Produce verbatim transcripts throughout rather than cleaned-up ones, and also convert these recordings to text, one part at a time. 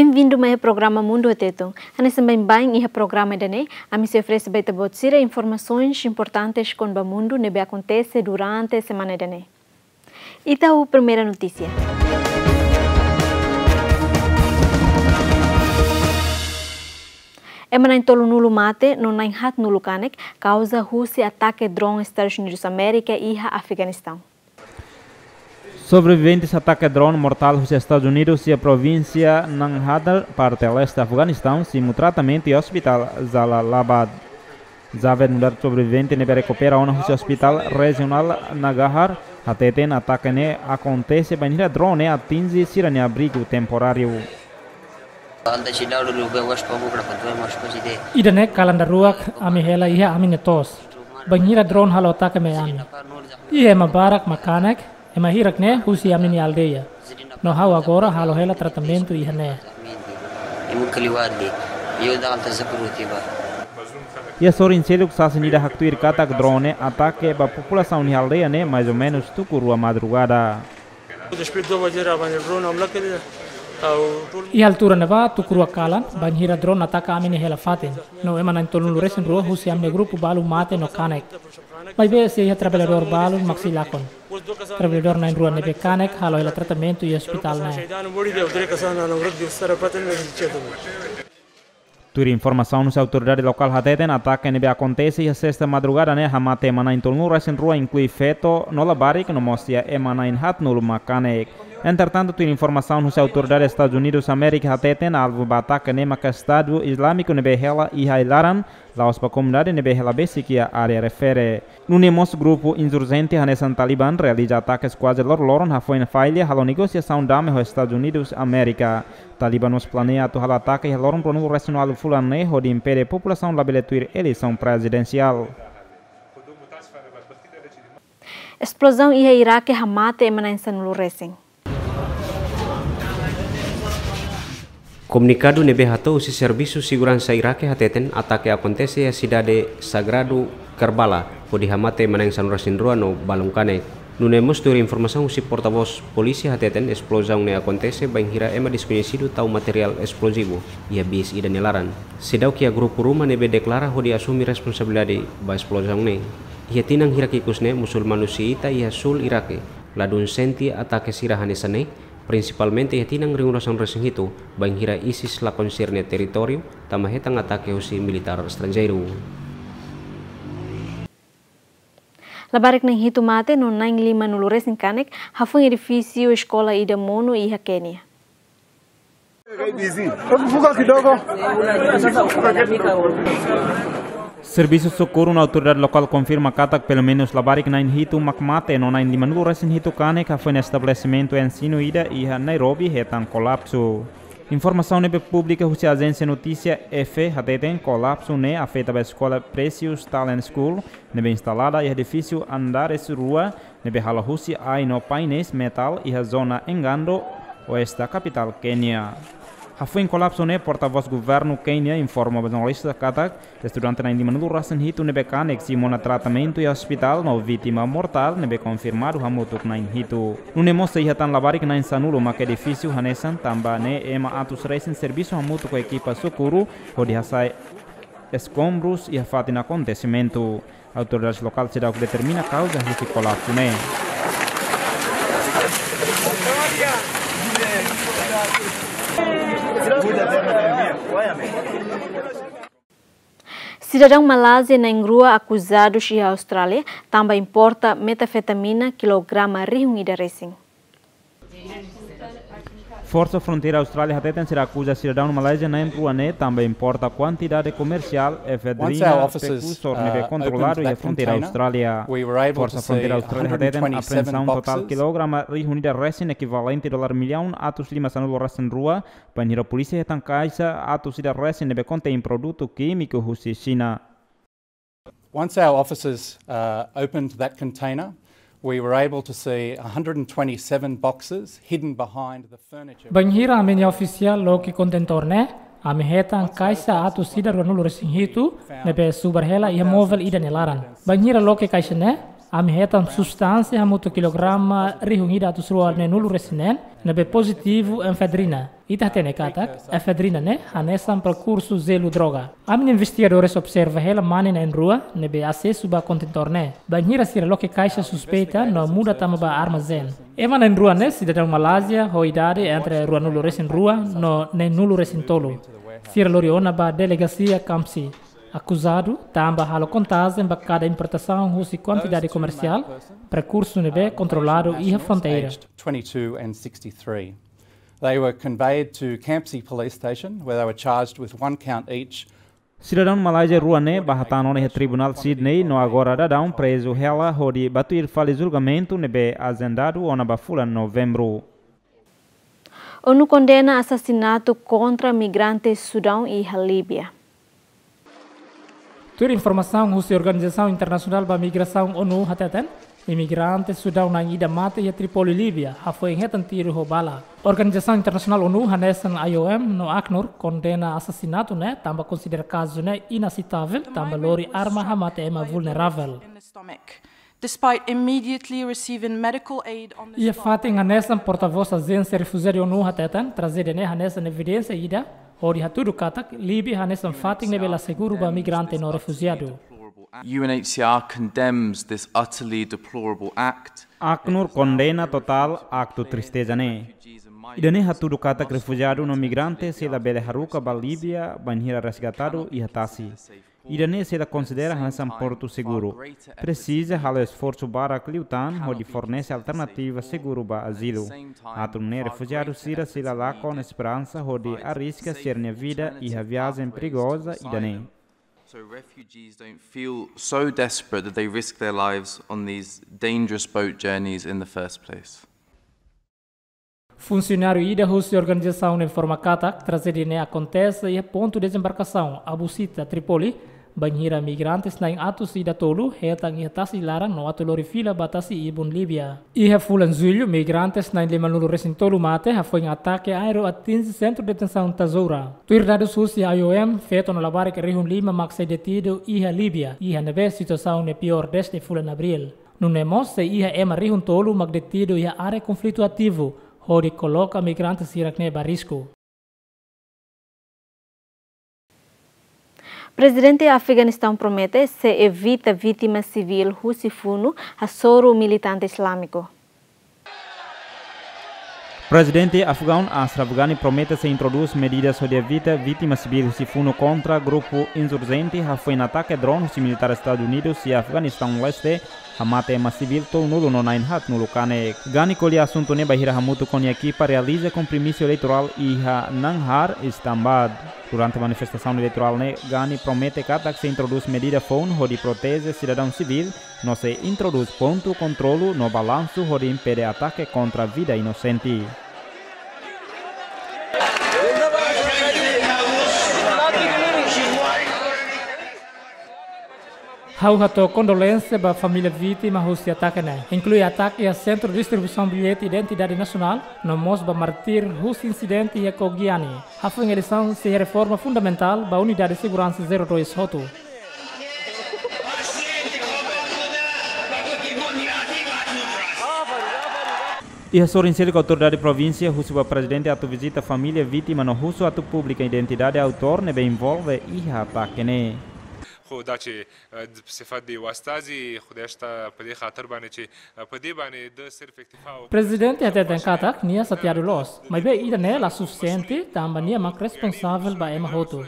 Bem-vindo mai iha programa Mundu ho Tetun. Hanesan baibain iha programa ida-ne'e, ami sei oferese ba ita-boot sira informasaun importante kona-ba mundu ne'ebé akontese durante semana ida-ne'e. Ita ho primeira notísia. Ema na'in tolunulu mate no na'in haatnulu kanek kauza husi atake drone Estadus Unidus Amérika iha Afeganistaun. Sobreviventes atake drone mortál husi Estadus Unidus iha provínsia Nangarhar, parte leste Afeganistaun, simu tratamentu iha Ospitál Jalalabad. Javed Mudar, sobrevivente ne'ebé rekupera ona husi Ospitál Rejionál Nangarhar, hateten atake ne'e akontese bainhira drone atinje sira-nia abrigu temporáriu. Ida-ne'e kalan daruak ami hela iha ami-nia to'os, bainhira drone halo atake mai ami. Iha ema barak mak kanek, ema hirak ne'e husi ami-nia aldeia. No ha'u agora halo hela tratamentu iha ne'e. Iha sorin seluk sasin ida haktuir katak drone atake ba populasaun iha aldeia ne'e mais ou menus tuku rua madrugada. Iha altura ne'ebá tuku rua kalan, bainhira drone ataka ami-nia hela fatin. No ema na'in tolunulu resin rua husi ami-nia grupu balu mate no kanek. Maibé sei iha traballadór balu mak sei lakon. Traballadór na'in rua ne'ebé kanek halo hela tratamentu iha ospitál ne'e. Tuir informasaun husi autoridade lokál hateten atake ne'ebé akontese iha sesta madrugada ne'e hamate ema na'in tolunulu resin rua, inklui feto no labarik, no mós iha ema na'in haatnulu mak kanek. Entretantu, tuir informasaun husi autoridade Estadus Unidus Amérika hateten alvu ba atake ne'e maka Estadu Izlámiku ne'ebé hela iha ai-laran, la'ós ba komunidade ne'ebé hela besik iha área refere. Nune'e mós grupu insurjente hanesan Taliban realiza atakes kuaze loroloron hafoin falla halo negosiasaun dame ho Estadus Unidus Amérika. Taliban mós planeia atu halo atake iha loron ruanulu resin ualu fulan ne'e hodi impede populasaun labele tuir eleisaun prezidensiál. Esplozaun iha Irake hamate ema na'in sanulu resin. Komunikadu ne'ebé hato'o husi Servisu Seguransa Irake hateten atake akontese iha sidade sagradu Karbala, hodi hamate ema na'in sanulu resin rua no balun kanek. Nune'e mós tuir informasaun husi portavós polísia hateten esplozaun ne'e akontese bainhira ema deskoñesidu tau materiál esplosivu iha bis ida nia laran. Seidauk iha grupu ruma ne'ebé deklara hodi asume responsabilidade ba esplozaun ne'e. Iha tinan hirak ikus ne'e musulmanu xiita iha sul Irake ladún sente atake sira hanesan ne'e, prinsipalmente iha tinan rihun ruanulu resin hitu, bainhira ISIS lakon sira-nia territóriu, tanba hetan atake husi militár estranjeiru. Labarik na'in hitu mate no na'in limanulu resin kanek hafoin edifísiu eskola ida monu iha Kénia. Servisu sokorru no autoridade lokál konfirma katak pelumenus labarik na'in hitu mak mate no na'in limanulu resin hitu kanek hafoin estabelesimentu ensinu ida iha Nairobi hetan kolapsu. Informasaun ne'ebé publika husi ajénsia notísia AFP hateten kolapsu ne'e afeta ba eskola Precious Talent School, ne'ebé instalada iha edifísiu andares rua, ne'ebé halo husi ai no painéis metál iha zona Engando, oeste kapitál Kénia. Hafoin kolapsu ne'e, portavós governu Kénia informa ba jornalista katak estudante na'in limanulu resin hitu ne'ebé kanek simu ona tratamentu iha ospitál no vítima mortál ne'ebé konfirmadu hamutuk na'in hitu. Nune'e mós sei iha tan labarik na'in sanulu mak edifísiu hanesan, tanba ne'e ema atus resin servisu hamutuk ho ekipa sokorru hodi hasai eskombrus iha fatin akontesimentu. Autoridades lokál seidauk determina kauza husi kolapsu ne'e. Sidadaun Malázia na'in rua akuzadu iha Austrália tanba importa metanfetamina kilograma rihun ida resin. Forsa Fronteira Austrália hateten sira akuza sidadaun Malázia na'in rua ne'e tanba importa kuantidade komersiál efedrina prekursór ne'ebé kontroladu iha fronteira Austrália. Forsa Fronteira Austrália hateten apreensaun totál kilograma rihun ida resin, ekivalente dolar millaun atus lima sanulu resin rua, bainhira polísia hetan kaixa atus ida resin ne'ebé kontein produtu kímiku husi Xina. Once our officers, uh, opened that container, we were able to see a hundred and twenty-seven boxes hidden behind the furniture. Bainhira ami-nia ofisiál loke kontentór ne'e, ami hetan kaixa atus ida ruanulu resin hitu ne'ebé subar hela iha móvel ida nia laran. Bainhira loke kaixa ne'e, Ami hetan substánsia hamutuk kilograma rihun ida atus rua neenulu resin neen, ne'ebé pozitivu efedrina. Ita hatene katak efedrina ne'e hanesan prekursu zelu droga. Ami-nia investigadores observa hela mane na'in-rua ne'ebé asesu ba kontentór ne'e. Bainhira sira loke kaixa suspeita no muda tama ba armazén. Ema na'in-rua ne'e sidadaun Malázia ho idade entre ruanulu resin rua no neenulu resin tolu. Sira lori ona ba delegasia Khamsi. Akuzadu tanba halo kontajen ba kada importasaun husi kuantidade komersiál prekursu ne'ebé kontroladu iha fronteira. Aged twenty-two and sixty-three. They were conveyed to Khamsi Police Station, where they were charged with one count each. Sidadaun Malázia rua ne'e bá hatán ona iha Tribunál Sydney no agora daudaun prezu hela hodi bá tuir fali julgamentu ne'ebé ajendadu ona ba fulan Novembru. ONU kondena asasinatu kontra migrante Sudaun iha Líbia. Tuir informasaun husi Organizasaun Internasionál ba Migrasaun, ONU, hateten, imigrante Sudaun na'in ida mate iha Tripoli, Líbia, hafoin hetan tiru ho bala. Organizasaun Internasionál ONU hanesan IOM no ACNUR kondena asasinatu ne'e tanba konsidera kazu ne'e inaseitável tanba lori arma hamate ema vulneravel. Despite immediately receiving medical aid on the spot. Iha fatin hanesan portavós ajénsia refujiadu ONU hateten, trajédia ne'e hanesan evidénsia ida hodi hatudu katak Líbia hanesan fatin ne'ebé la seguru ba migrante no refujiadu. U N H C R condemns this utterly deplorable act. ACNUR kondena totál aktu tristeza ne'e. Ida-ne'e hatudu katak refujiadu no migrante sei labele haruka ba Líbia bainhira resgatadu iha tasi. Ida-ne'e sei la konsidera hanesan portu seguru. Presiza halo esforsu barak liután hodi fornese alternativa seguru ba azilu. Atu nune'e refujiadu sira sei la lakon esperansa hodi arriska sira-nia vida iha viajen perigoza ida-ne'e. So refugees don't feel so desperate that they risk their lives on these dangerous boat journeys in the first place. Funsionáriu ida husi organizasaun ne'e informa katak trajédia ne'e akontese iha pontu dezembarkasaun Abu Sita, Tripoli, bainhira migrantes na'in atus ida tolu hetan iha tasi laran no atu lori fila ba tasi ibun Líbia. Iha fulan Jullu, migrantes na'in limanulu resin tolu mate hafoin atake aéreu atinje sentru detensaun Tazoura. Tuir dadus husi IOM, feto no labarik rihun lima mak sei detidu iha Líbia, iha ne'ebé situasaun ne'e piór dezde fulan Abríl. Nune'e mós sei iha ema rihun tolu mak detidu iha área konflitu ativu, hodi koloka migrante sira-ne'e ba risku. Prezidente Afeganistaun promete sei evita vítima sivíl husi funu hasoru militante islamiku. Prezidente Afegaun Ashraf Ghani promete sei introdús medidas hodi evita vítima sivíl husi funu kontra grupu insurjente hafoin atake drone husi militár Estadus Unidus iha Afeganistaun Leste hamate ema sivíl tolunulu no na'in haatnulu kanek. Ghani ko'alia asuntu ne'e bainhira hamutuk ho nia ekipa realiza kompromisu eleitorál iha Nangarhar, Islamabad. Durante manifestasaun eleitorál ne'e, Ghani promete katak sei introdús medida foun hodi proteje sidadaun sivíl, no sei introdús pontu kontrolu no balansu hodi impede atake kontra vida inosente. Ha'u hato'o kondolénsia ba família vítima husi atake ne'e, inklui atake iha Sentru Distribuisaun Billete Identidade Nasionál, no mós ba mártir husi insidente iha Kogiani. Hafoin eleisaun sei iha reforma fundamentál ba Unidade Seguransa zero dois hotu. Iha sorin seluk autoridade provínsia husu ba prezidente atu vizita família vítima no husu atu publika identidade autór ne'ebé envolve iha atake ne'e. Ho dace, eh, se fadi wastazi, ho desta padi khatar bane che, eh, padi bane de ser efetiva. Prezidente hateten katak nia xateadu loos, maibé ida-ne'e la sufisiente, tanba nia mak responsavel ba ema hotu.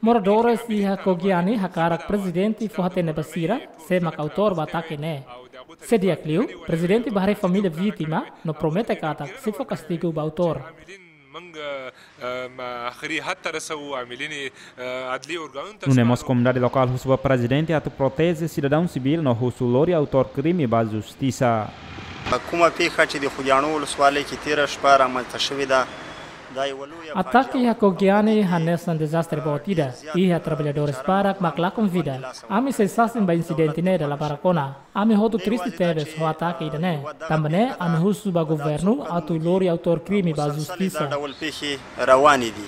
Moradores iha Kogiani hakarak prezidente fó-hatene ba sira, sé mak autór ba atake ne'e. Se di'ak liu, prezidente bá haree família vítima, no promete katak sei fó kastigu ba autór. Manga, eh, ma akhiri hatta rasau amilini, eh, adli organu. Nune'e mós komunidade lokál husu ba prezidente atu proteje sidadaun sivíl no husu lori autór krime ba justisa. Kuma piha che de Kogiani ulus wale ki tira spara ma tashvida. Atake iha Kogiani hanesan dezastre boot ida. Iha traballadores barak mak lakon vida. Ami sei sasin ba insidente ne'e dala barak ona. Ami hotu triste tebes ho atake ida-ne'e. Tanba ne'e, ami husu ba governu atu lori autór krime ba justisa. Rawani di.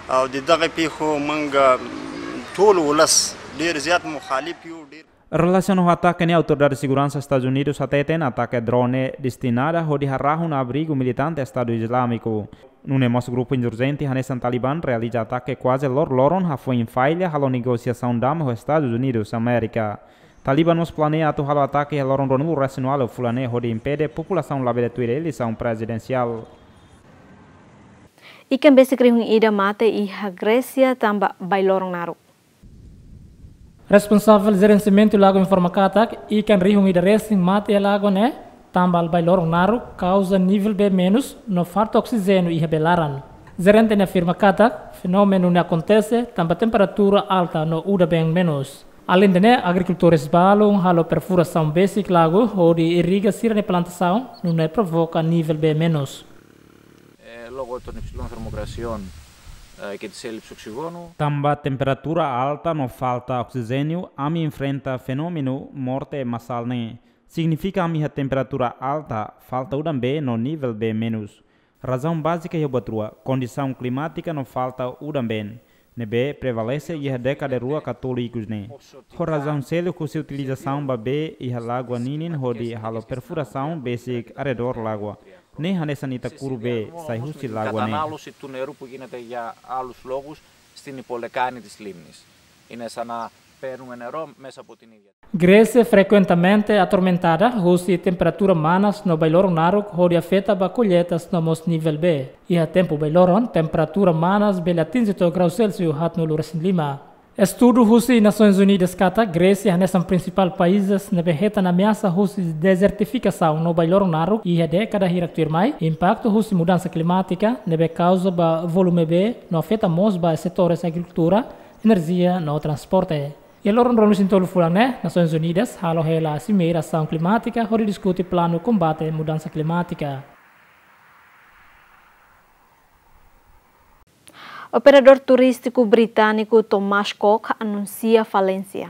Au di dagi pihu manga, mm, tolu ulas. Dir ziat mukhalif piu dir. Relasiona ho atake ne'e, autoridade seguransa Estadus Unidus hateten atake drone destinada hodi harahun abrigu militante Estadu Izlámiku. Nune'e mós grupu insurjente hanesan Taliban realiza atake kuaze loroloron hafoin falla halo negosiasaun dame ho Estadus Unidus Amérika. Taliban mós planeia atu halo atake iha loron ruanulu-resin-ualu fulan ne'e hodi impede populasaun labele tuir eleisaun prezidensiál. Ikan besik rihun ida mate iha Grésia tanba bailorong naruk. Responsavel Jerensiamentu Lagoa informa katak ikan rihun ida resin mate iha lagoa ne'e tanba bailorong naruk, kauza nivel bee menus no falta oksijéniu iha bee laran. Jerente ne'e afirma katak fenómenu ne'e akontese tanba temperatura alta no udan-been menus. Aleinde ne'e, agrikultores balun halo perfurasaun besik lagoa hodi irriga sira-nia plantasaun, nune'e provoka nivel bee menus. Eh, logo ton epsilon termokrasion, eh, ke di selip suksigono. Tanba temperatura alta no falta oksijéniu, ami enfrenta fenómenu morte masál ne'e. Signifika ami iha temperatura alta, falta udan-been no nivel bee menus. Razaun bázika iha buat rua, kondisaun klimátika no falta udan-been, ne'ebé prevalese iha dékada rua ka tolu ikus ne'e. Ho razaun seluk husi utilizasaun ba bee iha lagoa ninin hodi halo perfurasaun besik arredór lagoa. Ne'e hanesan ita kuru bee sai husi lagoa ne'e. Kata nalu si tun neru pugina te ya alus logus, stini pole kani tis limnis. Ina sana peru menero mesa potini. Grésia frekuentemente atormentada husi temperatura manas no bailorong naruk hodi afeta ba kolleitas no mós nivel bee. Iha tempu bailorong, temperatura manas bele atinje to'o grau Celsius haatnulu-resin-lima. Estudu husi Nasoins Unidas katak Grésia hanesan prinsipál países ne'ebé hetan ameasa husi dezertifikasaun no bailorong naruk iha dékada hirak tuirmai, impaktu husi mudansa klimátika ne'ebé kauza ba volume bee no afeta mós ba setores agrikultura, enerjia no transporte. Iha loron ruanulu-resin-tolu fulan ne'e, Nasoins Unidas halo hela Simeira Asaun Klimátika hodi diskute planu kombate mudansa klimátika. Operadór turístiku britániku Thomas Cook anunsia falénsia.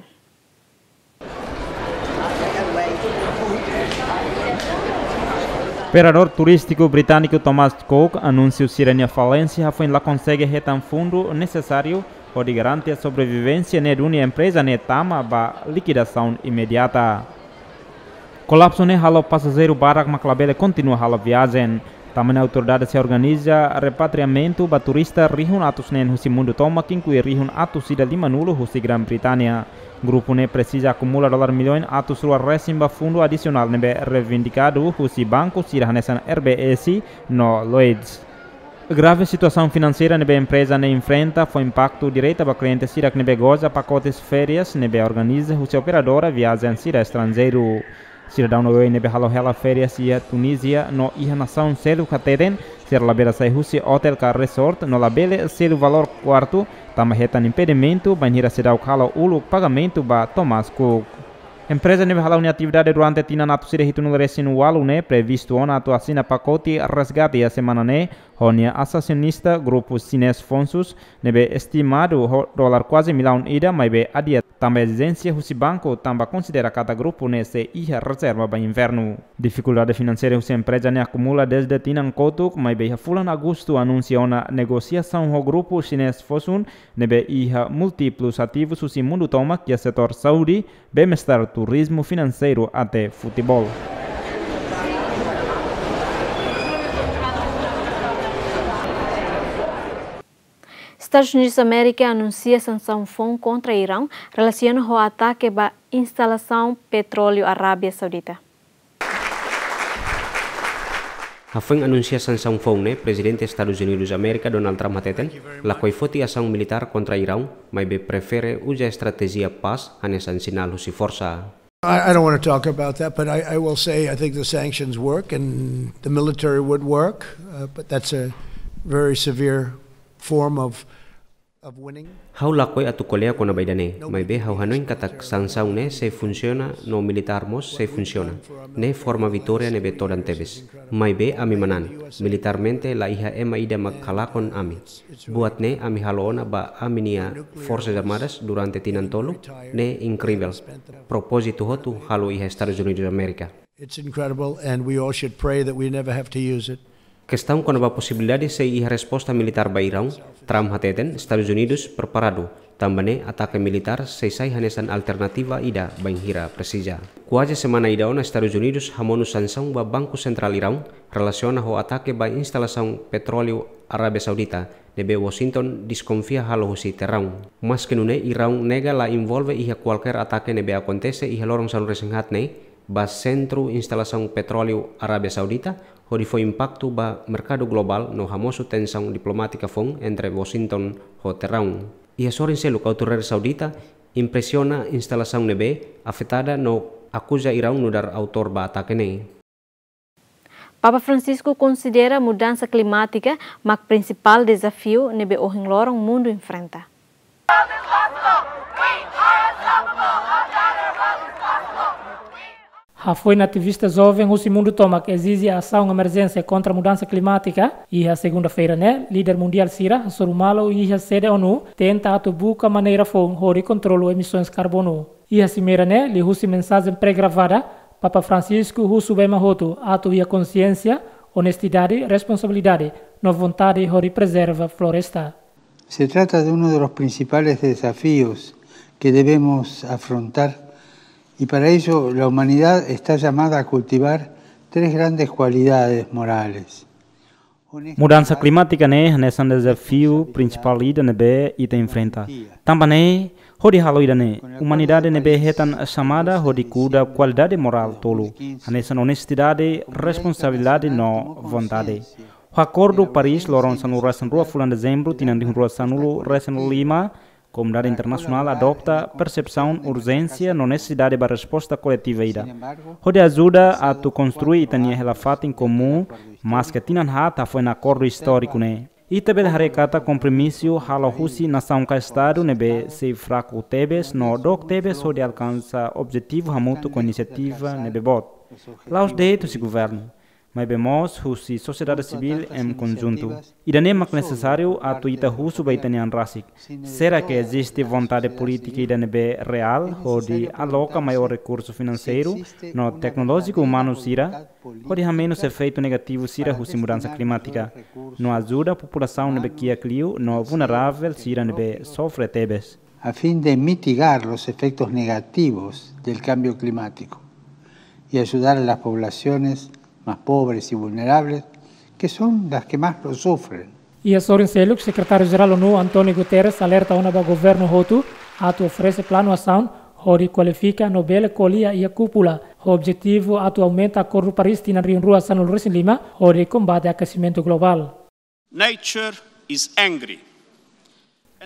Operadór turístiku britániku Thomas Cook anunsia sira-nia falénsia hafoin la konsege hetan fundu nesesáriu hodi garante sobrevivénsia ne'e duni empreza ne'e tama ba likuidasaun imediata. Kolapsu ne'e halo pasajeiru barak mak labele kontinua halo viajen. Tanba ne'e autoridade sei organiza repatriamentu ba turista rihun atus neen husi mundu tomak, inklui rihun atus ida limanulu husi Grã-Bretannia. Grupu ne'e presiza akumula dolar milhões atus rua resin ba fundu adisionál ne'ebé reivindikadu husi banku sira hanesan R B S no Lloyds. Grave situasaun finanseira ne'ebé empreza ne'e enfrenta fó impaktu direta ba kliente sira ne'ebé goza pakotes férias ne'ebé organiza husi operadora viajen sira estranjeiru. Sidadaun oioin ne'ebé halo hela férias iha Tunízia no iha nasaun seluk hateten, sira labele sai husi otél ka resort no labele selu valór kuartu, tanba hetan impedimentu bainhira seidauk halo uluk pagamentu ba Thomas Cook. Empreza ne'ebé hala'o nia atividade durante tinan atus ida hitunulu-resin-ualu ne'e previstu ona atu asina pakote resgate iha semana ne'e ho nia asosionista grupu Xinés Fonsus, ne'ebé estimadu ho dolar kuaze millaun ida, maibé adia tanba ezijénsia husi banku tanba konsidera katak grupu ne'e sei iha rezerva ba invernu. Difikuldade finanseira husi empreza ne'e akumula dezde tinan kotuk, maibé iha fulan Agostu anunsia ona negosiasaun ho grupu Xinés Fosun, ne'ebé iha múltiplus ativus husi mundu tomak iha setór saúde, bem-estar, turizmu, finanseiru até futeból. Estadus Unidus Amérika anunsia sansaun foun kontra Iraun relasiona ho atake ba instalasaun petróleu Arábia Saudita. Hafoin anunsia sansaun foun ne'e, Prezidente Estadus Unidus Amérika, Donald Trump, hateten lakohi foti asaun militár kontra Iraun, maibé prefere uza estratéjia pás hanesan sinál husi forsa. I, I don't want to talk about that, but I, I will say I think the sanctions work and the military would work, uh, but that's a very severe form of, of winning. Ha'u lakohi atu ko'alia kona-ba ida-ne'e, maibé ha'u hanoin katak sansaun ne'e sei funsiona no militár mós sei funsiona. Ne'e forma vitória ne'ebé todan tebes. Maibé ami manán, militarmente la iha ema ida mak halakon ami. Buat ne'e ami halo ona ba ami-nia Forsas Armadas durante tinan tolu, ne'e inkrivel. Propózitu hotu halo iha Estadus Unidus Amérika. It's incredible, and we all should pray that we never have to use it. Kestaun kona-ba posibilidade sei iha resposta militár ba Iraun, Trump hateten Estadus Unidus preparadu. Tanba ne'e, atake militár sei sai hanesan alternativa ida bainhira presiza. Kuaze semana ida ona Estadus Unidus hamonu sansaun ba Banku Sentrál Iraun relasiona ho atake ba instalasaun petróleu Arábia Saudita, ne'ebé Washington deskonfia halo husi Tehrán. Maske nune'e, Iraun nega la envolve iha kualkér atake ne'ebé akontese iha loron sanulu-resin haat ne'e ba sentru instalasaun petróleu Arábia Saudita, hodi fó impaktu ba merkadu globál no hamosu tensaun diplomátika foun entre Washington ho Tehrán. Iha sorin seluk, autoridade saudita impresiona instalasaun ne'ebé afetada no akuza Iraun nu'udar autór ba atake ne'e. Papa Francisco konsidera mudansa klimátika mak prinsipál dezafiu ne'ebé ohin loron mundu enfrenta. Hafoin ativista joven husi mundu tomak ezije asaun emerjénsia kontra mudansa klimátika, iha segunda-feira ne'e, líder mundiál sira hasoru malu iha sede ONU, tenta atu buka maneira foun hodi kontrolu emisoens karbonu. Iha simeira ne'e, liuhusi mensajen pre-gravada, Papa Francisco husu ba ema hotu atu iha konsiénsia, onestidade, responsabilidade no vontade hodi prezerva floresta. Se trata de uno de los principales desafíos que debemos afrontar, y para ello la humanidad está llamada a cultivar tres grandes cualidades morales. Mudansa klimátika ne'e hanesan dezafiu prinsipál ida ne'ebé ita enfrenta. Tanba ne'e, hodi halo ida-ne'e, umanidade ne'ebé hetan xamada hodi kuda kualidade morál tolu, hanesan onestidade, responsabilidade no vontade. Ho Akordu Paris, loron sanulu-resin-rua fulan Dezembru, tinan rihun rua sanulu-resin-lima, komunidade internasionál adopta persepsaun urjénsia no nesesidade ba resposta koletiva ida, hodi ajuda atu konstrui ita-nia hela-fatin komún, maske tinan haat hafoin akordu istóriku ne'e. Ita bele haree katak kompromisu halo husi nasaun ka estadu ne'ebé sei fraku tebes no dook tebes hodi alkansa objetivu hamutuk ho inisiativa ne'ebé boot. La'ós de'it husi governu, maibé mós husi sosiedade sivíl em conjunto. Ida-ne'e mak nesesáriu atu ita husu ba ita-nia an rasik. Será que eziste vontade polítika ida ne'ebé reál hodi aloka maiór rekursu finanseiru no teknolójiku umanu sira, hodi hamenus efeitu negativu sira husi mudansa klimátika, no ajuda populasaun ne'ebé kiak liu no vulneravel sira ne'ebé sofre tebes? A fin de mitigar los efectos negativos del cambio climático y ayudar a las poblaciones más pobres y vulnerables, que son las que más lo sufren. Iha sorin seluk, Sekretáriu-Jerál ONU, António Guterres, alerta ona ba governu hotu atu oferese planu asaun hodi kualifika no bele ko'alia iha kúpula, ho objetivu atu aumenta Akordu Paris tinan rihun rua sanulu-resin-lima hodi kombate akesimentu globál. Nature is angry.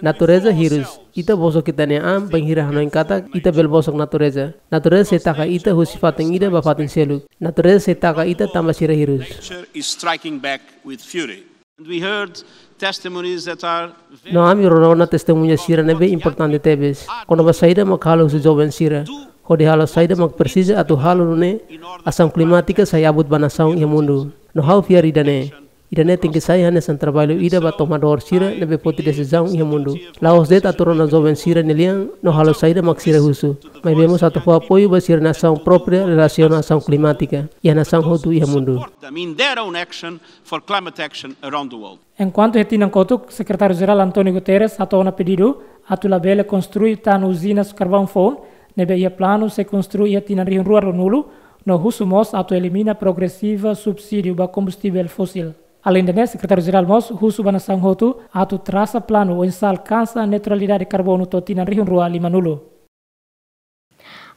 Natureza hirus. Ita bosok ita-nia an bainhira hanoin katak ita bele bosok natureza. Natureza sei taka ita husi fatin ida ba fatin seluk. Natureza sei taka ita tanba sira hirus. Nature is striking back with fury. And we heard testimonies that are very... No ami rona ona testemuña sira ne'ebé importante tebes. Kona-ba saida mak halo husi joven sira, hodi halo saida mak presiza atu halo nune'e asaun klimátika sai abut ba nasaun iha mundu. No ha'u fiar ida-ne'e. Ida-ne'e tenke sai hanesan traballu ida ba tomadór sira ne'ebé foti desizaun iha mundu. La'ós de'it atu rona joven sira-nia lian no halo saida mak sira husu, maibé mós atu fó apoiu ba sira-nia asaun própria relasiona asaun klimátika iha nasaun hotu iha mundu. Support them in their own action for climate action around the world. Enkuantu iha tinan kotuk, Sekretáriu-Jerál António Guterres hato'o ona pedidu atu labele konstrui tan uzinas karvaun foun, ne'ebé iha planu sei konstrui iha tinan rihun rua ruanulu, no husu mós atu elimina progresiva subsídiu ba kombustivel fósil. Aleinde ne'e, Sekretáriu-Jerál mós husu ba nasaun hotu atu trasa planu oinsá alkansa neutralidade karbonu to'o tinan rihun rua limanulu.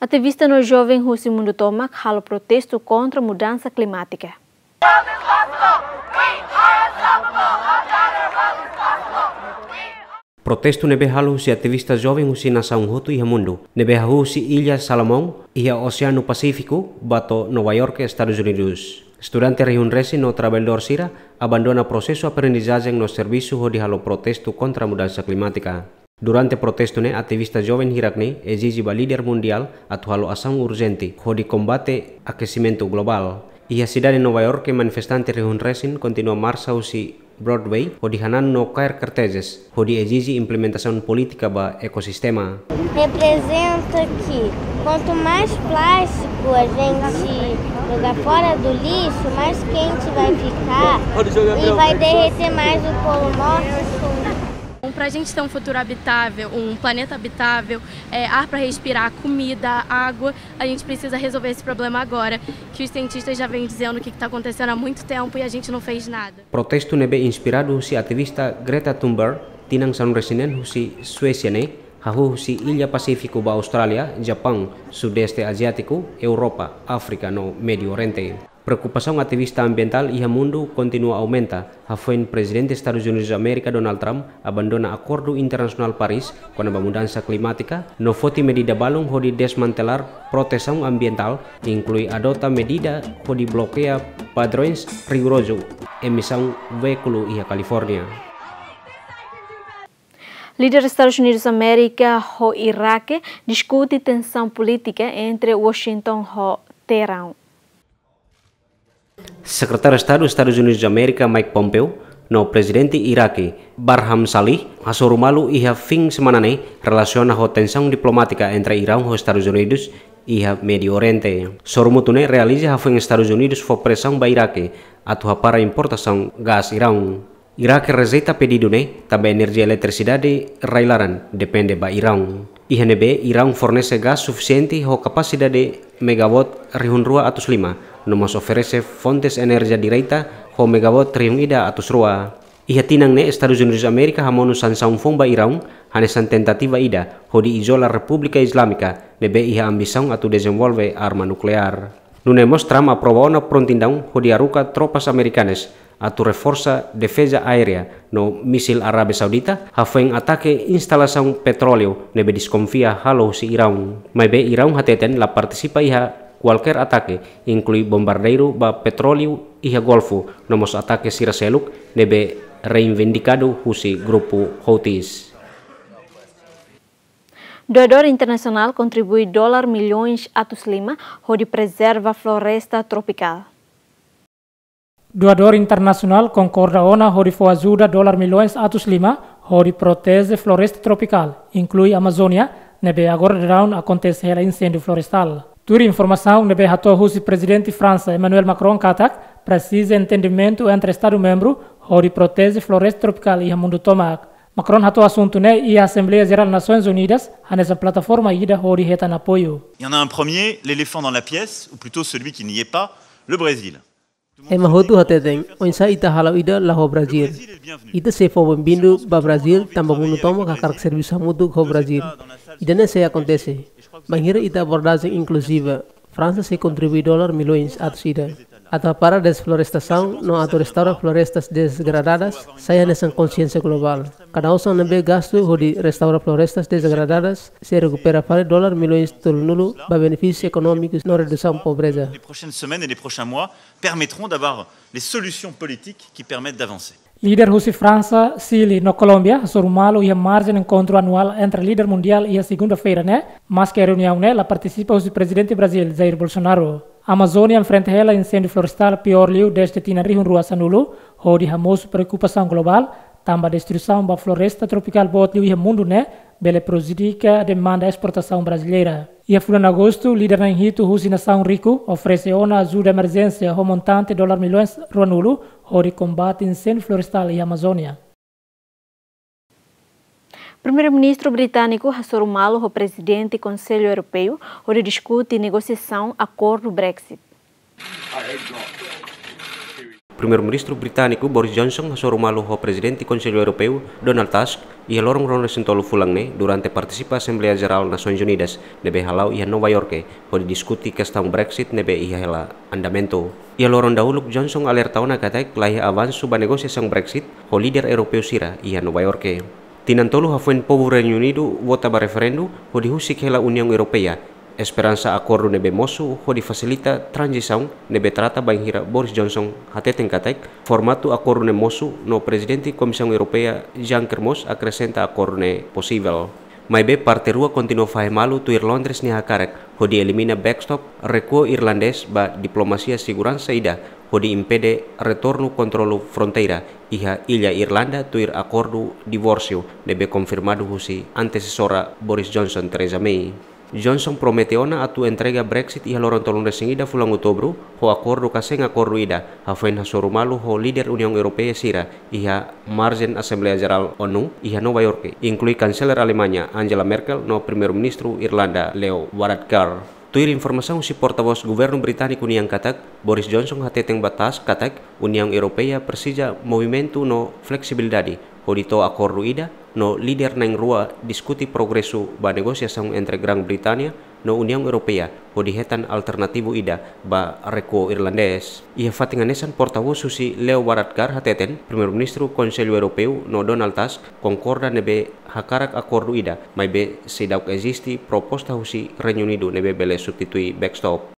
Ativista no joven husi mundu tomak halo protestu kontra mudansa klimátika. Protestu ne'ebé halo husi ativista joven husi nasaun hotu iha mundu, ne'ebé hahú husi Illa Salomon, iha Oseanu Pasífiku, ba to'o Nova York, Estadus Unidus. Estudante rihun resin no traballadór sira abandona prosesu aprendizajen no servisu hodi halo protestu kontra mudansa klimátika. Durante protestu ne'e, ativista joven hirak ne'e ezije ba líder mundiál atu halo asaun urjente hodi kombate akesimentu globál. Iha sidade Nova York, manifestante rihun resin kontinua marsa husi Broadway hodi hananu no kaer kartezes hodi ezije implementasaun polítika ba ekosistema. Representa que quanto mais plástico a gente jogar fora do lixo, mais quente vai ficar e vai derreter mais o Polo Norte e Sul. Para a gente ter um futuro habitável, um planeta habitável, é, ar para respirar, comida, água, a gente precisa resolver esse problema agora, que os cientistas já vêm dizendo o que está acontecendo há muito tempo e a gente não fez nada. Protestu ne'ebé inspiradu husi ativista Greta Thunberg, tinan sanulu-resin-neen, husi Suésia ne'e, hahú husi illa Pasífiku ba Austrália, Japaun, Sudeste Aziátiku, Europa, Áfrika no Médiu Oriente. Preokupasaun ativista ambientál iha mundu kontinua aumenta, hafoin Prezidente Estadus Unidus Amérika Donald Trump abandona Akordu Internasionál Paris kona-ba mudansa klimátika, no foti medida balun hodi desmantelar protesaun ambientál, inklui adota medida hodi blokeia padrões rigorozu emisaun veíkulu iha California. Líder Estadus Unidus Amérika ho Iraque diskute tensaun polítika entre Washington ho Teherão. Sekretáriu Estadu Estadus Unidus Amérika Mike Pompeo no Prezidente Iraque Barham Salih hasoru malu iha fin semana ne'e relasiona ho tensaun diplomátika entre Iraun ho Estadus Unidus iha Médiu Oriente. Sorumutu ne'e realiza hafoin Estadus Unidus fó presaun ba Iraque atu hapara importasaun gás Iraun. Iraque rejeita pedidu ne'e tanba enerjia eletrisidade rai-laran depende ba Iraun. Iha ne'ebé Iraun fornese gás sufisiente ho kapasidade megawatt rihun rua atus lima, no mós oferese fontes enerjia direta ho megawatt rihun ida atus rua. Iha tinan ne'e Estadus Unidus Amérika hamonu sansaun foun ba Iraun, hanesan tentativa ida hodi izola Repúblika Islámika ne'ebé iha ambisaun atu dezenvolve arma nukleár. Nune'e mós Trump aprova ona prontidaun hodi haruka tropas amerikanas atu reforsa defeza aérea no mísil Arábia Saudita hafoin atake instalasaun petróleu ne'ebé deskonfia halo husi Iraun. Maibé Iraun hateten la partisipa iha kualkér atake, inklui bombardeiru ba petróleu iha Golfu, no mós atake sira seluk ne'ebé reivindikadu husi grupu Houthis. Doadór internasionál kontribui dolar milhões atus lima hodi prezerva floresta tropikál. Doadór internasionál konkorda ona hodi fó ajuda dolar milhões atus lima hodi proteje floresta tropikál, inklui Amazónia, ne'ebé agora daudaun akontese hela inséndiu florestál. Tuir informasaun ne'ebé hato'o husi Prezidente Fransa Emmanuel Macron katak presiza entendimentu entre Estadu membru hodi proteje floresta tropikál iha mundu tomak. Macron hato'o asuntu ne'e iha Asembleia Jerál Nasoins Unidas, hanesan plataforma ida hodi hetan apoiu. Il y en a un premier, l'éléphant dans la pièce, ou plutôt celui qui n'y est pas, le Brésil. Ema hotu hateten, oinsá ita hala'o ida la ho Brazil. Ita sei fó benvindu ba Brazil, tanba mundu tomak hakarak servisu hamutuk ho Brazil. Ida-ne'e sei akontese. Bainhira ita abordajen inkluziva, Fransa sei kontribui dolar milhões atus ida. Atu hapara desflorestasaun no atu restaura florestas degradadas, sai hanesan konsiénsia globál. Kada osan ne'ebé gastu hodi restaura florestas degradadas, sei rekupera fali dolar milhões tolunulu ba benefísius ekonómikus no redusaun pobreza. Les prochaines semaines et les prochains mois permettront d'avoir les solutions politiques qui permettent d'avancer. Líder husi Fransa, Xile no Kolómbia hasoru malu iha marjen enkontru anuál entre líder mundiál iha segunda-feira ne'e, maske reuniaun ne'e la partisipa husi Prezidente Brazil, Jair Bolsonaro. Amazónia enfrenta hela inséndiu florestál piór liu dezde tinan rihun rua sanulu, hodi hamosu preokupasaun globál, tanba destruisaun ba floresta tropikál boot liu iha mundu ne'e, bele prejudika demanda esportasaun brasileira. Iha fulan Agostu, líder na'in hitu husi nasaun riku oferese ona ajuda emerjénsia ho montante dolar milhões ruanulu hodi kombate inséndiu florestál iha Amazónia. Primeiru-Ministru britániku hasoru malu ho Prezidente Konsellu Europeu hodi diskute negosiasaun akordu Brexit. Primeiru-Ministru britániku Boris Johnson hasoru malu ho Prezidente Konsellu Europeu Donald Tusk iha loron ruanulu-resin-tolu fulan ne'e durante partisipa Asembleia Jerál Nasoins Unidas ne'ebé hala'o iha Nova York, hodi diskute kestaun Brexit ne'ebé iha hela andamentu. Iha loron dahuluk Johnson alerta ona katak laiha avansu ba negosiasaun Brexit ho líder europeu sira iha Nova York. Tinan tolu hafoin povu Reinu Unidu vota ba referendu hodi husik hela Uniaun Europeia, esperansa akordu ne'ebé mosu hodi fasilita tranzisaun ne'ebé trata bainhira Boris Johnson hateten katak formatu akordu ne'e mosu no Prezidente Komisaun Europeia Juncker mós akresenta akordu ne'e posivel. Maibé parte rua kontinua fahe malu tuir Londres nia hakarak hodi elimina backstop, rekuo irlandés ba diplomasia seguransa ida hodi impede retornu kontrolu fronteira iha illa Irlanda tuir akordu divórsiu ne'ebé konfirmadu husi antesesora Boris Johnson, Theresa May. Johnson promete ona atu entrega Brexit iha loron tolunulu-resin-ida fulan Outubru, ho akordu ka sein akordu ida, hafoin hasoru malu ho líder Uniaun Europeia sira iha marjen Asembleia Jerál ONU iha Nova Iorke, inklui Kanseler Alemaña Angela Merkel no Primeiru-Ministru Irlanda Leo Varadkar. Tuir informasaun husi portavós governu britániku nian katak, Boris Johnson hateten ba Tusk katak Uniaun Europeia presiza movimentu no fleksibilidade hodi to'o akordu ida, no líder na'in-rua diskute progresu ba negosiasaun entre Gran Británia no Uniaun Europeia hodi hetan alternativu ida ba rekuo irlandés. Iha fatin hanesan, portavós husi Leo Varadkar hateten, Primeiru-Ministru Konsellu Europeu no Donald Tusk konkorda ne'ebé hakarak akordu ida, maibé seidauk eziste proposta husi Reinu Unidu ne'ebé bele substitui backstop.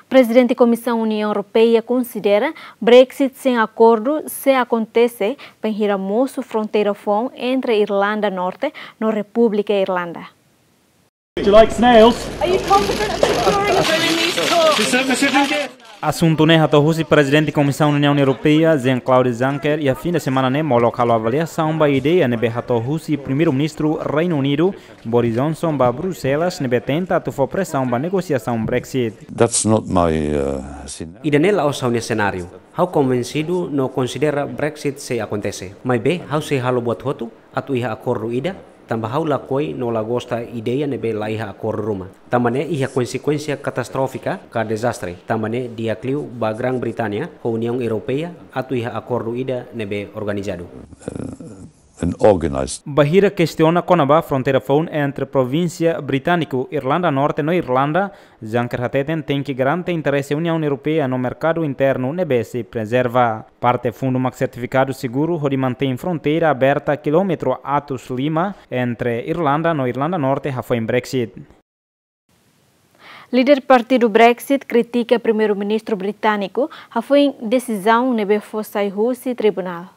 Prezidente Komisaun Uniaun Europeia konsidera Brexit sein akordu sei akontese bainhira mosu fronteira foun entre Irlanda Norte no Repúblika Irlanda. Would you like snails? Are you confident of securing a Bernese talk? Asuntu ne'e hato'o husi Prezidente Komisaun Uniaun Europeia, Jean-Claude Juncker, iha fin de semana ne'e molok halo avaliasaun ba ideia ne'ebé hato'o husi Primeiru-Ministru Reinu Unidu, Boris Johnson, ba Bruxelas, ne'ebé tenta atu fó presaun ba negosiasaun Brexit. That's not my, uh, scena- Ida-ne'e la'ós ha'u-nia senáriu. Ha'u konvensidu no konsidera Brexit sei akontese. Maibé, ha'u sei halo buat hotu atu iha akordu ida, tanba ha'u lakohi no la gosta ideia ne'ebé la iha akordu ruma. Tanba ne'e iha konsekuénsia katastrófika ka dezastre. Tanba ne'e di'ak liu ba Gran Británia ho Uniaun Europeia atu iha akordu ida ne'ebé organizadu. An organized. Bainhira kestiona kona-ba fronteira foun entre provínsia britániku Irlanda Norte no Irlanda, Juncker hateten tenke garante interese Uniaun Europeia no merkadu internu ne'ebé sei prezerva. Parte fundu mak sertifikadu seguru hodi mantein fronteira aberta kilómetru atus lima entre Irlanda no Irlanda Norte hafoin Brexit. Líder partidu Brexit kritika Primeiru-Ministru britániku hafoin desizaun ne'ebé fó sai husi tribunál.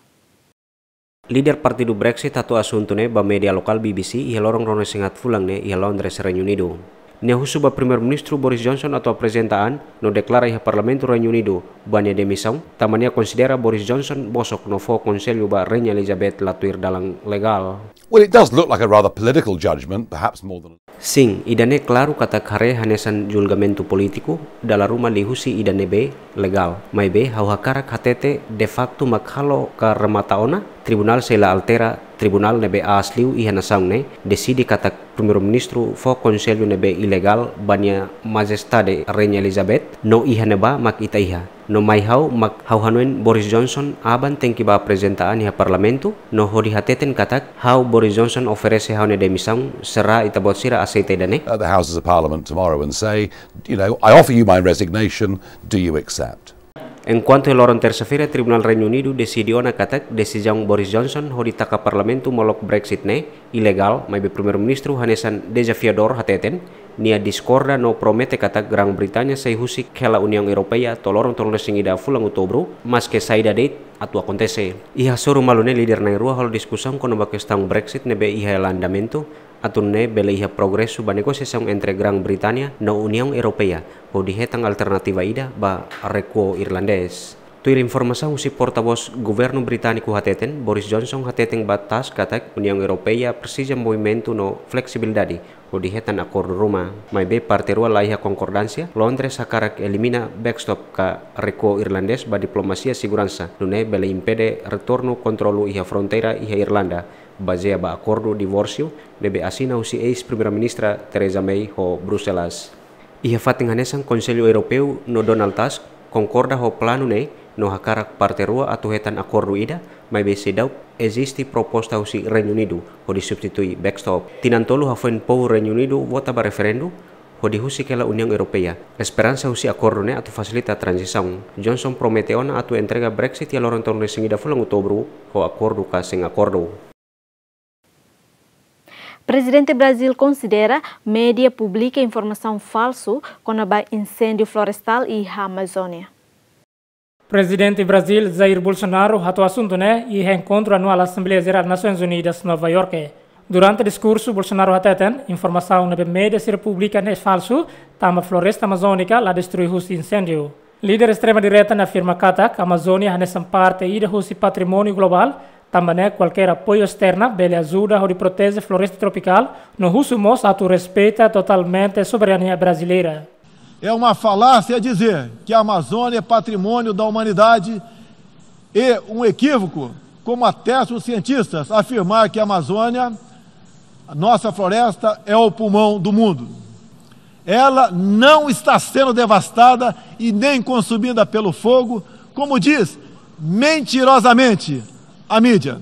Líder partidu Brexit hato'o asuntu ne'e ba média lokál B B C iha loron ruanulu-resin-haat fulan ne'e iha Londres, Reinu Unidu. Nia husu ba Primeiru-Ministru Boris Johnson atu aprezenta an no deklara iha Parlamentu Reinu Unidu ba nia demisaun, tanba nia konsidera Boris Johnson bosok no fó konsellu ba Rainha Elizabeth la tuir dalan legál. Well, it does look like a rather political judgment, perhaps more than Sin, ida-ne'e klaru katak haree hanesan julgamentu polítiku, dala ruma liuhusi ida ne'ebé legál. Maibé, ha'u hakarak hatete de facto mak halo ka remata ona, tribunál sei la altera, tribunál ne'ebé aas liu iha nasaun ne'e, deside katak Primeiru-Ministru fó konsellu ne'ebé ilegál ba Nia Majestade Rainha Elizabeth, no iha ne'ebá mak ita iha. No mai ha'u mak ha'u hanoin Boris Johnson aban tenke bá aprezenta an iha Parlamentu, no hodi hateten katak ha'u Boris Johnson oferese ha'u-nia demisaun, será ita-boot sira aseita ida-ne'e? At the Houses of Parliament tomorrow and say, you know, "I offer you my resignation, do you accept?" Enkuantu iha loron tersa-feira, Tribunál Reinu Unidu deside ona katak desizaun Boris Johnson hodi taka Parlamentu molok Brexit ne'e ilegál, maibé Primeiru-Ministru hanesan dezafiadór hateten, nia diskorda no promete katak Gran Británia sai husik hela Uniaun Europeia to'o loron tolunulu-resin-ida fulan Outubru, maske saida de'it atu akontese. Iha soru malu ne'e líder na'in-rua halo diskusaun kona-ba kestaun Brexit ne'ebé iha andamentu, atu nune'e bele iha progresu ba negosiasaun entre Gran Británia no Uniaun Europeia, hodi hetan alternativa ida ba rekuo irlandés. Tuir informasaun husi portavós governu britániku hateten, Boris Johnson hateten ba Tusk katak Uniaun Europeia presiza movimentu no fleksibilidade hodi hetan akordu ruma. Maibé parte rua la iha konkordánsia, Londres hakarak elimina backstop ka rekuo irlandés ba diplomasia seguransa, nune'e bele impede retornu kontrolu iha fronteira iha Irlanda, bazeia ba akordu divórsiu ne'ebé asina husi eis-Primeira-Ministra Theresa May ho Bruxelas. Iha fatin hanesan, Konsellu Europeu no Donald Tusk konkorda ho planu ne'e no hakarak parte rua atu hetan akordu ida, maibé seidauk eziste proposta husi Reinu Unidu hodi substitui backstop. Tinan tolu hafoin povu Reinu Unidu vota ba referendu hodi husik hela Uniaun Europeia. Esperansa husi akordu ne'e atu fasilita tranzisaun. Johnson promete ona atu entrega Brexit iha loron tolunulu-resin-ida fulan Outubru, ho akordu ka sein akordu. Prezidente Brazíl konsidera média publika informasaun falsu kona-ba inséndiu florestál iha Amazónia. Prezidente Brazíl, Jair Bolsonaro, hato'o asuntu ne'e iha enkontru anuál Asembleia Jerál Nasoins Unidas, Nova Iorke. Durante diskursu, Bolsonaro hateten, informasaun ne'ebé média sira publika ne'e falsu, tanba floresta amazónika la destrui husi inséndiu. Líder estrema-direita ne'e afirma katak Amazónia hanesan parte ida husi patrimóniu globál, Tanba ne'e kualkér apoiu esterna bele ajuda hodi proteje floresta tropikál, no husu mós atu respeita totalmente soberania brasileira. É uma falácia dizer que a Amazônia é patrimônio da humanidade e um equívoco, como atestam os cientistas, afirmar que a Amazônia, a nossa floresta, é o pulmão do mundo. Ela não está sendo devastada e nem consumida pelo fogo, como diz mentirosamente a mídia.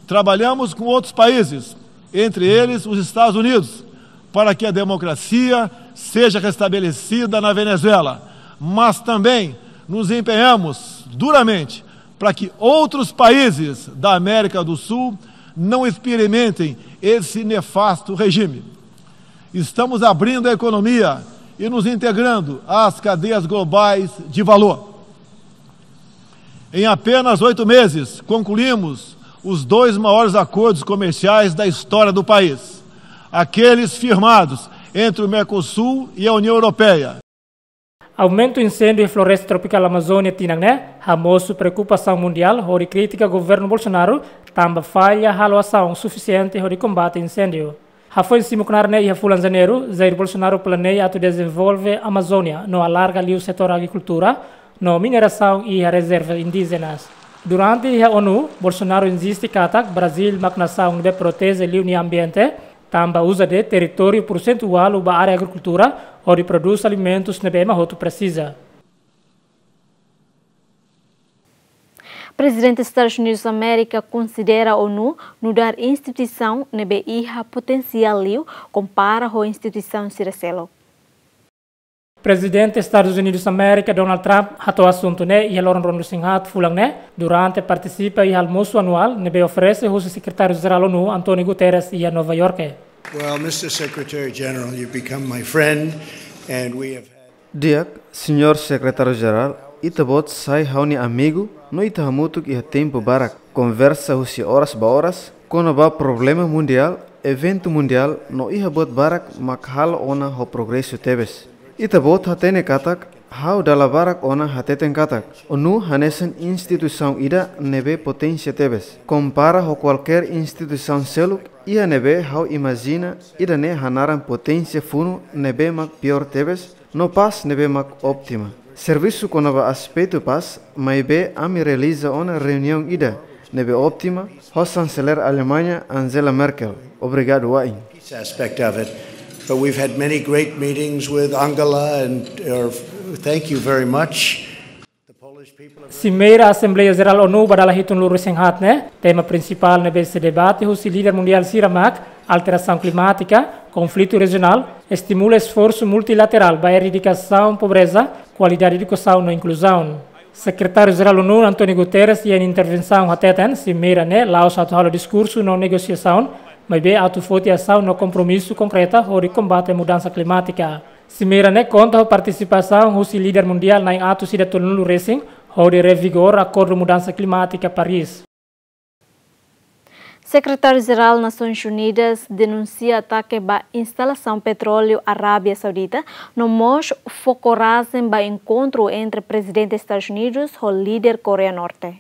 Trabalhamos com outros países, entre eles os Estados Unidos, para que a democracia seja restabelecida na Venezuela, mas também nos empenhamos duramente para que outros países da América do Sul não experimentem esse nefasto regime. Estamos abrindo a economia e nos integrando às cadeias globais de valor. Em apenas oito meses, concluímos os dois maiores acordos comerciais da história do país, aqueles firmados entre o Mercosul e a União Europeia. Aumentu inséndiu iha floresta tropikál Amazónia tinan ne'e hamosu preokupasaun mundiál hodi kritika governu Bolsonaro tanba falla halo asaun sufisiente hodi kombate inséndiu. Hafoin simu knaar ne'e iha fulan Janeiru, Jair Bolsonaro planeia atu dezenvolve Amazónia no alarga liu setór agrikultura no minerasaun iha rezerva indíjenas. Durante iha ONU, Bolsonaro inziste katak Brazíl mak nasaun ne'ebé proteje liu nia ambiente, tanba uza de'it territóriu porsentuál ba área agrikultura hodi prodús alimentus ne'ebé ema hotu presiza. Prezidente Estadus Unidus Amérika konsidera ONU nu'udar instituisaun ne'ebé iha potensiál liu kompara ho instituisaun sira seluk. Prezidente Estadus Unidus Amérika, Donald Trump, hato'o asuntu ne'e iha loron ruanulu-resin-haat fulan ne'e, durante partisipa iha almosu anuál ne'ebé oferese husi Sekretáriu Jerál ONU, António Guterres, iha Nova Iorke. Well, Mister Secretary General, you've become my friend, and we have had Di'ak, Señór Sekretáriu Jerál, ita-boot sai ha'u-nia amigu, no ita hamutuk iha tempu barak, konversa husi oras ba oras, kona-ba problema mundiál, eventu mundiál, no iha buat barak mak halo ona ho progresu tebes. Ita-boot hatene katak, ha'u dala barak ona hateten katak, ONU hanesan instituisaun ida ne'ebé poténsia tebes. Kompara ho kualkér instituisaun seluk, iha ne'ebé ha'u imajina, ida-ne'e hanaran poténsia funu ne'ebé mak piór tebes, no pás ne'ebé mak óptima. Servisu kona-ba aspetu pás, maibé ami realiza ona reuniaun ida ne'ebé óptima, ho Xanselér Alemaña Angela Merkel. Obrigadu wa'in. Peace aspect of it. But we've had many great meetings with Angela, and, uh, thank you very much. The Polish people have Simeira Asembleia Jerál ONU ba dala hitunulu-resin-haat ne'e, tema prinsipál ne'ebé sei debate husi líder mundiál sira mak alterasaun klimátika, konflitu rejionál, estimula esforsu multilaterál ba eradikasaun pobreza, kualidade edukasaun no inkluzaun. Sekretáriu Jerál ONU, António Guterres, iha intervensaun hateten, simeira ne'e la'ós atu halo diskursu no negosiasaun, maibé atu foti asaun no kompromisu konkreta hodi kombate mudansa klimátika. Simeira ne'e konta ho partisipasaun husi líder mundiál na'in atus ida tolunulu-resin, hodi revigora Akordu Mudansa Klimátika Paris. Sekretáriu Jerál Nasoins Unidas denunsia atake ba instalasaun petróleu Arábia Saudita, no mós fó korajen ba enkontru entre Prezidente Estadus Unidus ho líder Koreia Norte.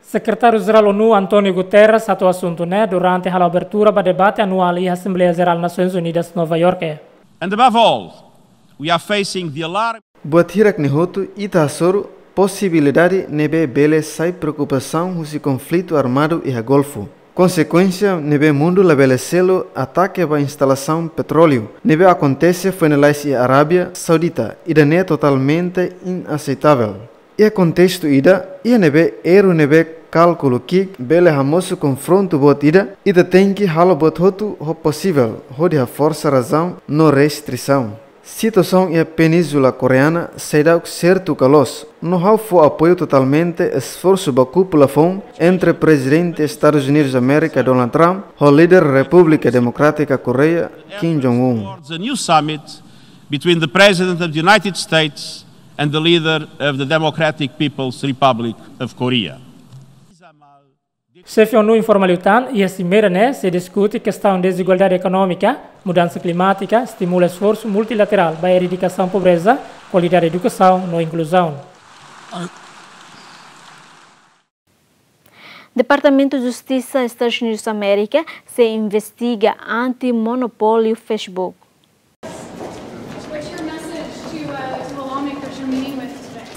Sekretáriu Jerál ONU, António Guterres, hato'o asuntu ne'e durante halo abertura ba debate anuál iha Asembleia Jerál Nasoins Unidas, Nova Iorke. And above all, we are facing the alarm. Buat hirak-ne'e hotu ita hasoru posibilidade ne'ebé bele sai preokupasaun husi konflitu armadu iha Golfu. Konsekuénsia ne'ebé mundu labele selu atake ba instalasaun petróleu ne'ebé akontese foin lalais iha Arábia Saudita, ida-ne'e totalmente inaseitavel. Iha kontestu ida, iha ne'ebé erru ne'ebé kálkulu ki'ik bele hamosu konfrontu boot ida, ita tenke halo buat hotu ho posivel, hodi haforsa razaun no restrisaun. Situasaun iha Península Koreana seidauk sertu ka loos, no ha'u fó apoiu totalmente esforsu ba kúpula foun entre Prezidente Estadus Unidus Amérika Donald Trump ho líder Repúblika Demokrátika Koreia Kim Jong-un. Towards a new summit between the President of the United States and the leader of the Democratic People's Republic of Korea. Xefe ONU informa liután, iha simeira ne'e sei diskute kestaun dezigualdade ekonómika, mudansa klimátika, estimula esforsu multilaterál ba eradikasaun pobreza, kualidade edukasaun no inkluzaun. Departamentu Justisa Estadus Unidus Amérika sei investiga anti-monopóliu Facebook.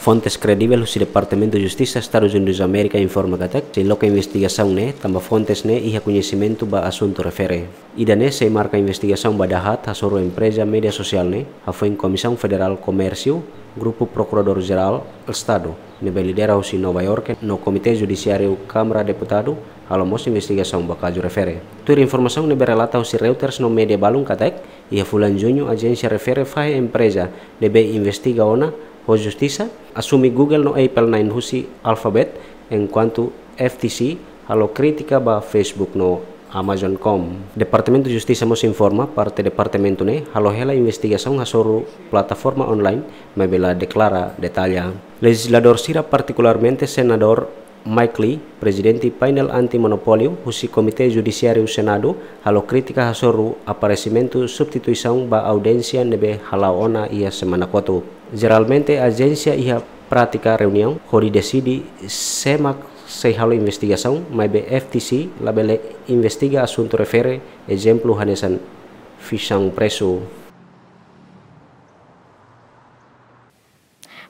Fontes kredivel husi Departamentu Justisa Estadus Unidus Amérika informa katak sei loke investigasaun ne'e tanba fontes ne'e iha koñesimentu ba asuntu refere. Ida-ne'e sei marka investigasaun ba dahaat hasoru empreza média sosiál ne'e hafoin Komisaun Federál Komérsiu, Grupu Prokuradór Jerál Estadu ne'ebé lidera husi Nova Iorke no Komité Judisiáriu Kámara Deputadu halo mós investigasaun ba kazu refere. Tuir informasaun ne'ebé relata husi Reuters no média balun katak, iha fulan Juñu ajénsia refere fahe empreza ne'ebé investiga ona ho justisa, asume Google no Apple na'in husi Alphabet, enkuantu F T C halo krítika ba Facebook no Amazon.com. Departamentu Justisa mós informa parte departamentu ne'e halo hela investigasaun hasoru plataforma online, maibé la deklara detalla. Lejizladór sira, partikularmente Senadór Mike Lee, prezidente painel anti-monopóliu husi Komité Judisiáriu Senadu, halo krítika hasoru aparesimentu substituisaun ba audiénsia ne'ebé hala'o ona iha semana kotuk. Jeralmente ajénsia iha prátika reuniaun hodi deside sé mak sei halo investigasaun, maibé F T C labele investiga asuntu refere, ezemplu hanesan fiksaun presu.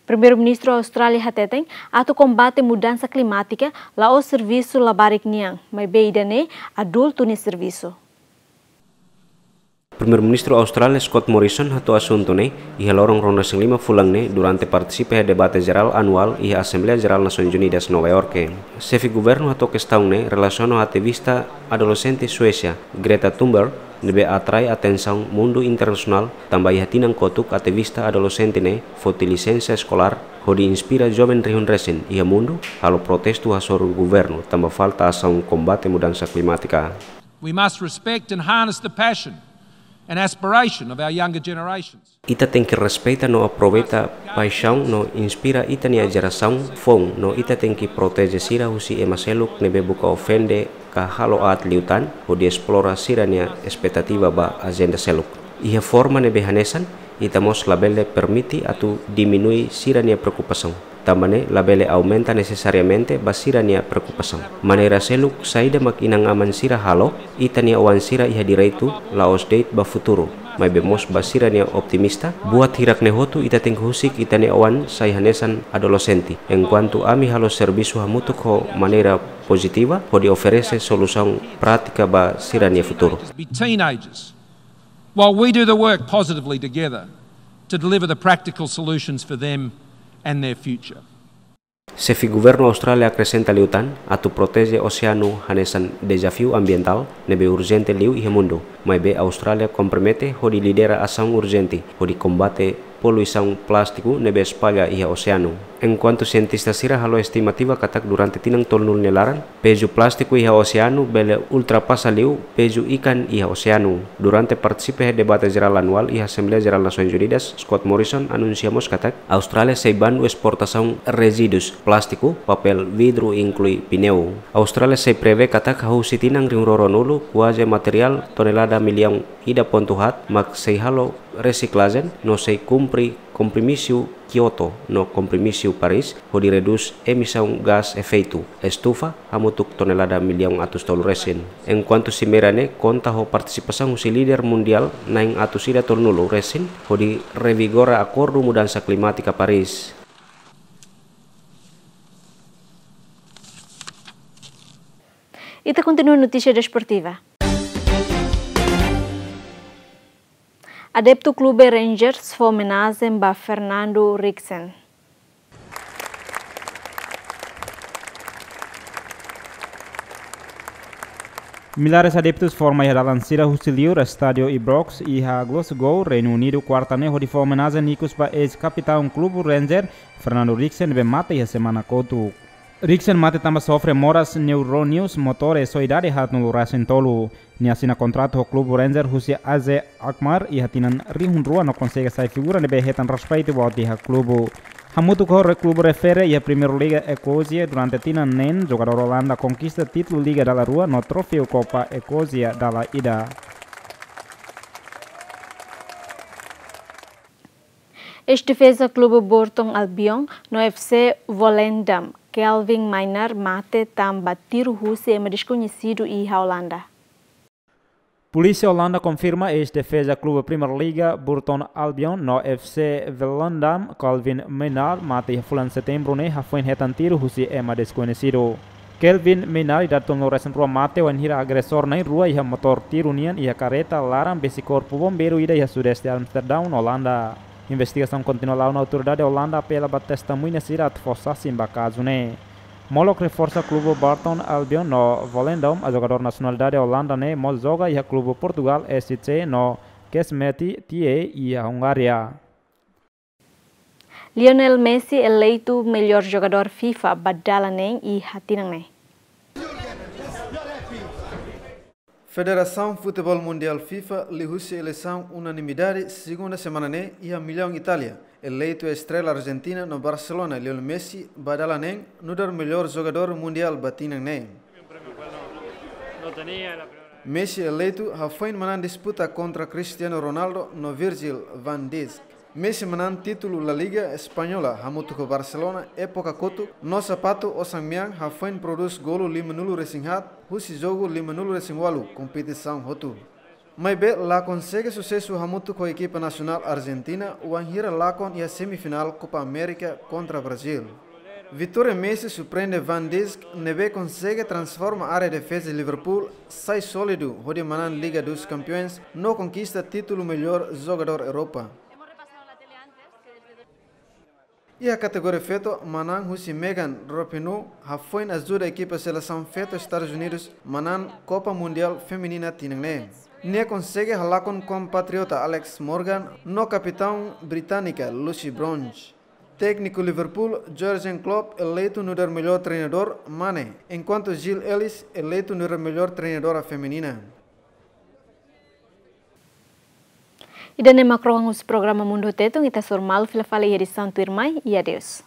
Primeiru-Ministru Austrália hateten, atu kombate mudansa klimátika, la'ós servisu labarik nian, maibé ida-ne'e adultu nia servisu. Primeiru-Ministru Austrália Scott Morrison hato'o asuntu ne'e iha loron ruanulu-resin-lima fulan ne'e durante partisipa iha debate jerál anuál iha Asembleia Jerál Nasoins Unidas, Nova Iorke. Xefe governu hato'o kestaun ne'e relasiona ho ativista adolexente Suésia, Greta Thunberg, ne'ebé atrai atensaun mundu internasionál tanba iha tinan kotuk ativista adolexente ne'e foti lisensa eskolár hodi inspira joven rihun resin iha mundu halo protestu hasoru governu tanba falta asaun kombate mudansa klimátika. We must respect and harness the passion and aspiration of our younger generations. Ita tenke respeita no aproveita paixaun no inspira ita-nia jerasaun foun, no ita tenke proteje sira husi ema seluk ne'ebé buka ofende ka halo aat liután hodi esplora sira-nia espetativa ba ajenda seluk. Iha forma ne'ebé hanesan, ita mós labele permite atu diminui sira-nia preokupasaun. Tanba ne'e labele aumenta nesesariamente ba sira-nia preokupasaun. Maneira seluk saida mak inan-aman sira halo, ita-nia oan sira iha direitu la'ós de'it ba futuru, maibé mós ba sira-nia optimista. Buat hirak-ne'e hotu ita tenke husik ita-nia oan sai hanesan adolexente, enkuantu ami halo servisu hamutuk ho maneira pozitiva hodi oferese solusaun prátika ba sira-nia futuru. Be teenagers. While we do the work positively together to deliver the practical solutions for them and their future. Xefe governu Austrália akresenta liután, atu proteje oseanu hanesan dezafiu ambientál ne'ebé urjente liu iha mundu, maibé Austrália kompromete hodi lidera asaun urjente hodi kombate poluisaun plástiku ne'ebé espalla iha oseanu. Enkuantu sientista sira halo estimativa katak durante tinan tolunulu nia laran, pezu plástiku iha oseanu bele ultrapasa liu pezu ikan iha oseanu. Durante partisipa iha debate jerál anuál iha Asembleia Jerál Nasoins Unidas, Scott Morrison anunsia mós katak Austrália sei bandu esportasaun rezíduus plástiku, papél, vidru, inklui pineu. Austrália sei prevee katak hahú husi tinan rihun rua ruanulu, kuaze materiál tonelada millaun ida pontu haat mak sei halo resiklajen no sei kumpre Kompromisu Kyoto no Kompromisu Paris hodi redús emisaun gás efeitu estufa hamutuk tonelada millaun atus tolu resin. Enkuantu simeira ne'e konta ho partisipasaun husi líder mundiál na'in atus ida tolunulu resin hodi revigora Akordu Mudansa Klimátika Paris. Ita kontinua notísia desportiva. Adeptu Klube Rangers fó omenajen ba Fernando Rixen. Millares adeptus forma iha dalan sira husi liur Estádiu Ibrox iha Glasgow, Reinu Unidu, kuarta ne'e hodi fó omenajen ikus ba eis-kapitaun Klube Rangers, Fernando Rixen, ne'ebé mate iha semana kotuk. Rixen mate tanba sofre moras neurónius motores ho idade haatnulu resin tolu. Nia asina kontratu ho Klube Rangers husi A Z Alkmaar iha tinan rihun rua no konsege sai figura ne'ebé hetan respeitu boot iha klube. Hamutuk ho re-, klube refere iha Primeira Liga Eskosia durante tinan neen, jogadór Olanda konkista títulu Liga dala rua no troféu Kopa Eskosia dala ida. Eis-defeza klube Burton Albion no F C Volendam, Kelvin Maynard, mate tanba tiru husi ema deskoñesidu iha Olanda. Polísia Olanda konfirma eis-defeza klube Primeira Liga Burton Albion no F C Volendam, Kelvin Maynard, mate iha fulan Setembru ne'e hafoin hetan tiru husi ema deskoñesidu. Kelvin Maynard, idade tolunulu-resin-rua, mate wainhira agresór na'in-rua iha motór tiru nian iha kareta laran besik korpu bombeiru ida iha sudeste Amsterdão, Olanda. Investigasaun kontinua la'o no autoridade Olanda apela ba testemuña sira atu fó sasin ba kazu ne'e. Molok reforsa, klube Burton Albion no Volendam, jogadór nasionalidade Olanda ne'e mós joga iha klube Portugal S C no Kesmeti T A iha Hungária. Lionel Messi eleitu melhor jogadór FIFA ba dala neen iha tinan ne'e. Federasaun Futeból Mundiál FIFA liuhusi eleisaun unanimidade segunda semana ne'e iha Milão, Itália, eleitu estrela Argentina no Barcelona Lionel Messi ba dala neen nu'udar melhor jogadór mundiál ba tinan ne'e. Messi eleitu hafoin manán disputa kontra Cristiano Ronaldo no Virgil van Dijk. Messi manán títulu La Liga Española hamutuk ho Barcelona époka kotuk no sapatu osan-mean hafoin prodús golu limanulu-resin-haat husi jogu limanulu-resin-ualu kompetisaun hotu. Maibé la konsege susesu hamutuk ho ekipa nasionál Argentina wainhira lakon iha semifinál Copa América kontra Brazil. Vitória Messi surpreende Van Dijk, ne'ebé konsege transforma área defeza Liverpool sai sólidu hodi manán Liga dos Campeões no konkista títulu melhor jogadór Europa. Iha kategoria feto, manán husi Megan Rapinoe hafoin ajuda ekipa selesaun feto Estadus Unidus manán Kopa Mundiál Feminina tinan ne'e. Nia konsege halakon kompatriota Alex Morgan no kapitaun británika Lucy Bronze. Tékniku Liverpool, Jurgen Klopp, eleitu nu'udar melhor treinadór mane, enkuantu Jill Ellis eleitu nu'udar melhor treinadora feminina. Ida-ne'e mak rohan husi programa Mundu Tetun, ita hasoru malu fila fali iha edisaun tuirmai, i adeus.